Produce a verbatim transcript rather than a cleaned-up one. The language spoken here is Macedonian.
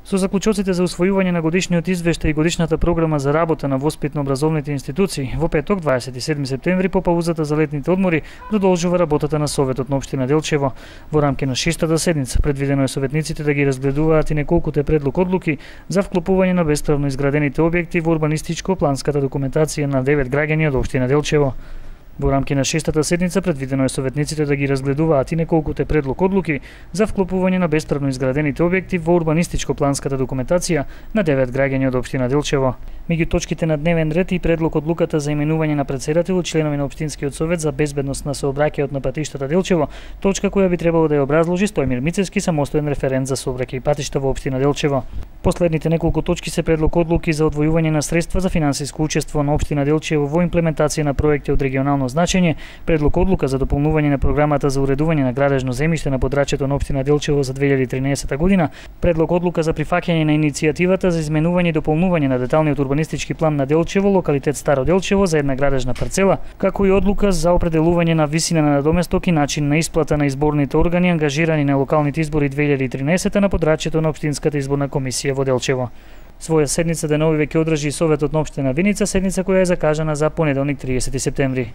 Со заклучоците за усвојување на годишниот извештај и годишната програма за работа на воспитно-образовните институции, во петок, дваесет и седми септември, по паузата за летните одмори, продолжува работата на Советот на општина Делчево. Во рамки на шестата седница предвидено е советниците да ги разгледуваат и неколкуте предлог одлуки за вклопување на бесправно изградените објекти во урбанистичко-планската документација на девет граѓани од општина Делчево. Во рамки на шестата седница предвидено е советниците да ги разгледуваат и неколкуте предлог одлуки за вклопување на бесправно изградените објекти во урбанистичко-планската документација на девет граѓани од општина Делчево. Меѓу точките на дневен ред и предлог одлуката за именување на претседател и членови на општинскиот совет за безбедност на сообраќајот на патиштата Делчево, точка која би требало да ја образложи Стојмир Мицевски, самостоен референт за сообраќај и патишта во општина Делчево. Последните неколку точки се предлог одлуки за одвојување на средства за финансиско учество на општина Делчево во имплементација на проекти од регионално значење, предлог одлука за дополнување на програмата за уредување на градежно земјиште на подрачјето на општина Делчево за две илјади и тринаесета година, предлог одлука за прифаќање на иницијативата за изменување и дополнување на деталниот урбанистички план на Делчево, локалитет Старо Делчево за една градежна парцела, како и одлука за определување на висина на надоместок и начин на исплата на изборните органи ангажирани на локалните избори две илјади и тринаесета на подрачјето на општинската изборна комисија во Делчево. Своја седница денови веќе одржи и Советот на општина Виница, седница која е закажана за понеделник триесети септември.